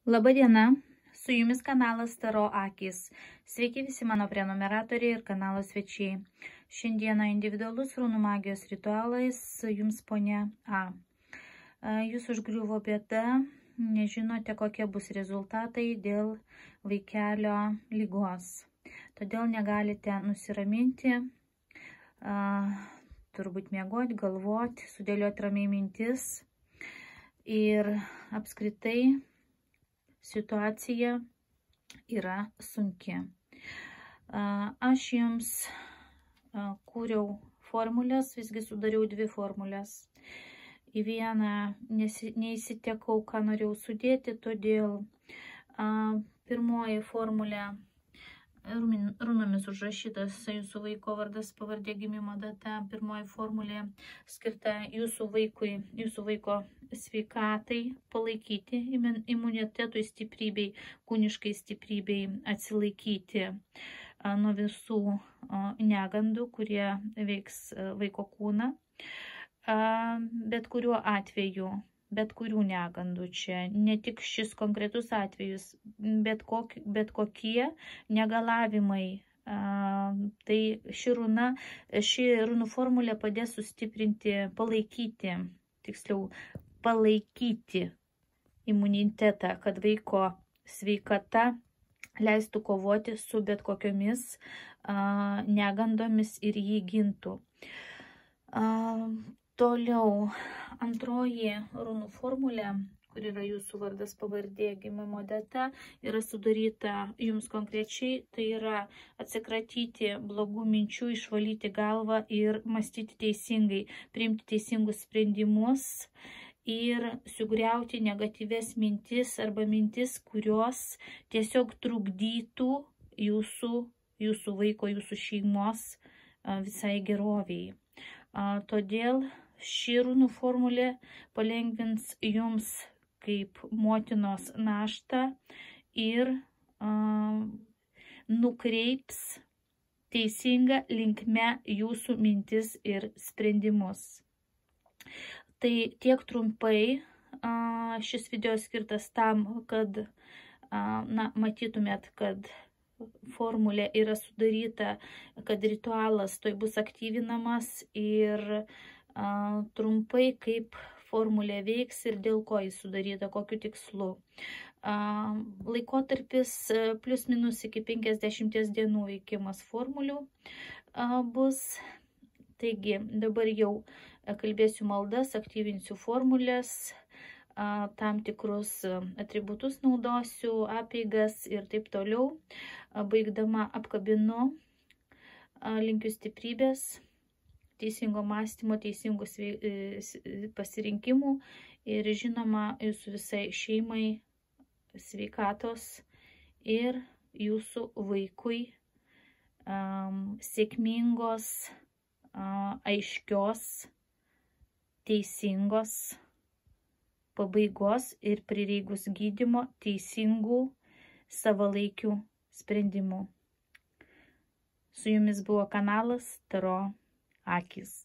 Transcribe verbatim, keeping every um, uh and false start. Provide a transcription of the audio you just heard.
Labadiena, su jumis kanalas Taro Akys. Sveiki visi mano prenumeratoriai ir kanalo svečiai. Šiandieną individualus runų magijos ritualais jums ponia A. Jūs užgriuvo bėda, nežinote kokie bus rezultatai dėl vaikelio lygos. Todėl negalite nusiraminti, turbūt miegoti, galvoti, sudėlioti ramiai mintis ir apskritai situacija yra sunki. Aš jums kūriau formulės, visgi sudariau dvi formulės. Į vieną neįsitekau, ką norėjau sudėti, todėl pirmoji formulė runomis užrašytas jūsų vaiko vardas, pavardė, gimimo data. Pirmoji formulė skirta jūsų vaikui, jūsų vaiko sveikatai palaikyti, imunitetui, stiprybei, kūniškai stiprybei, atsilaikyti nuo visų negandų, kurie veiks vaiko kūną. Bet kuriuo atveju, bet kurių negandų čia, ne tik šis konkretus atvejus, bet, kok, bet kokie negalavimai. Tai ši runa, ši runų formulė padės sustiprinti, palaikyti, tiksliau, palaikyti imunitetą, kad vaiko sveikata leistų kovoti su bet kokiomis negandomis ir jį gintų. Toliau, antroji runų formulė, kur yra jūsų vardas, pavardė, gimimo data, yra sudaryta jums konkrečiai, tai yra atsikratyti blogų minčių, išvalyti galvą ir mąstyti teisingai, priimti teisingus sprendimus ir sugriauti negatyves mintis arba mintis, kurios tiesiog trukdytų jūsų, jūsų vaiko, jūsų šeimos visai geroviai. Todėl ši runų formulė palengvins jums kaip motinos naštą ir uh, nukreips teisinga linkme jūsų mintis ir sprendimus. Tai tiek trumpai, uh, šis video skirtas tam, kad uh, na, matytumėt, kad formulė yra sudaryta, kad ritualas toj bus aktyvinamas ir a, trumpai kaip formulė veiks ir dėl ko jis sudaryta, kokiu tikslu. A, laikotarpis plius minus iki penkiasdešimties dienų veikimas formulių a, bus. Taigi dabar jau kalbėsiu maldas, aktyvinsiu formulės, a, tam tikrus atributus naudosiu, apeigas ir taip toliau. Baigdama apkabinu, linkiu stiprybės, teisingo mąstymo, teisingų pasirinkimų ir žinoma jūsų visai šeimai sveikatos ir jūsų vaikui um, sėkmingos, uh, aiškios, teisingos pabaigos ir prireikus gydymo teisingų savalaikių sprendimų. Su jumis buvo kanalas Taro Akys.